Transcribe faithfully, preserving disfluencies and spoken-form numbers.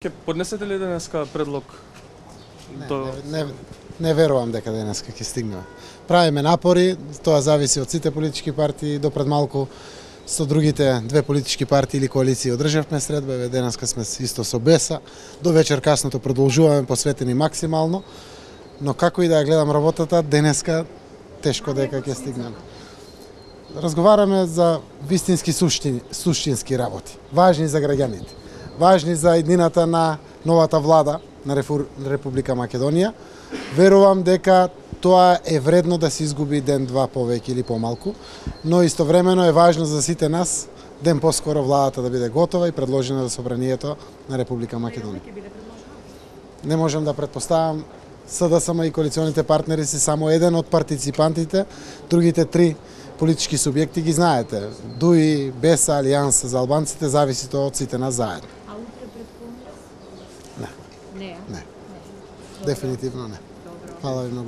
Ке поднесете ли денеска предлог? Не, до... не, не, не верувам дека денеска ќе стигнеме. Правиме напори, тоа зависи од сите политички партии, до пред малку со другите две политички партии или коалиции одржавме средба, еве денеска сме исто со Беса, до вечер касното продолжуваме посветени максимално, но како и да ја гледам работата, денеска тешко дека ќе стигнеме. Разговараме за вистински суштини, суштински работи, важни за граѓаните, важни за иднината на новата влада на Република Македонија. Верувам дека тоа е вредно да се изгуби ден-два повеќе или помалку, но истовремено е важно за сите нас ден поскоро владата да биде готова и предложена за собранието на Република Македонија. Не можам да претпоставам, СДСМ и коалиционите партнери се само еден од партиципантите, другите три политички субјекти ги знаете. ДУИ, Беса, Алијанса за албанците, зависи тоа од сите нас заедно. А утре пред полнос? Не. Не. Не. Дефинитивно не. Фала ви многу.